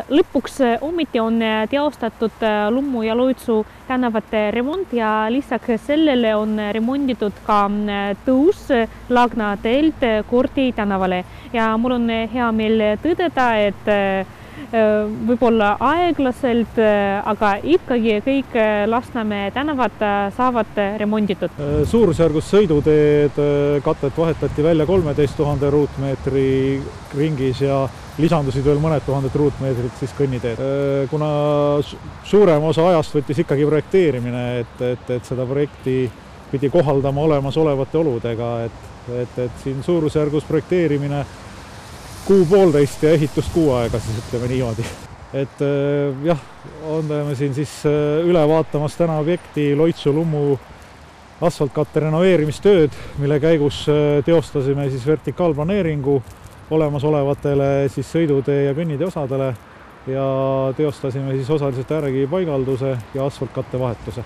lõpuks ometi on teostatud Lummu ja Loitsu tänavate remont ja lisaks sellele on remonditud ka tõus Lagna teelt Kordi tänavale. Ja mul on hea meel tõdeda, et võib-olla aeglaselt, aga ikkagi kõik Lasnamäe tänavad saavad remonditud. Suurusjärgus sõiduteed katet vahetati välja 13 000 ruutmeetri ringis ja lisandusid veel mõned tuhanded ruutmeetrid siis kõnniteed. Kuna suurem osa ajast võttis ikkagi projekteerimine, et seda projekti pidi kohaldama olemasolevate oludega, et siin suurusjärgus projekteerimine 6,5 ja ehitust 6 aega, siis ütleme niimoodi. Et jah, oleme siin siis üle vaatamas täna objekti Loitsu-Lummu asfaltkatte renoveerimistööd, mille käigus teostasime siis vertikaalplaneeringu olemasolevatele siis sõidutee ja kõnnitee osadele ja teostasime siis osaliselt ääregi paigalduse ja asfaltkatte vahetuse.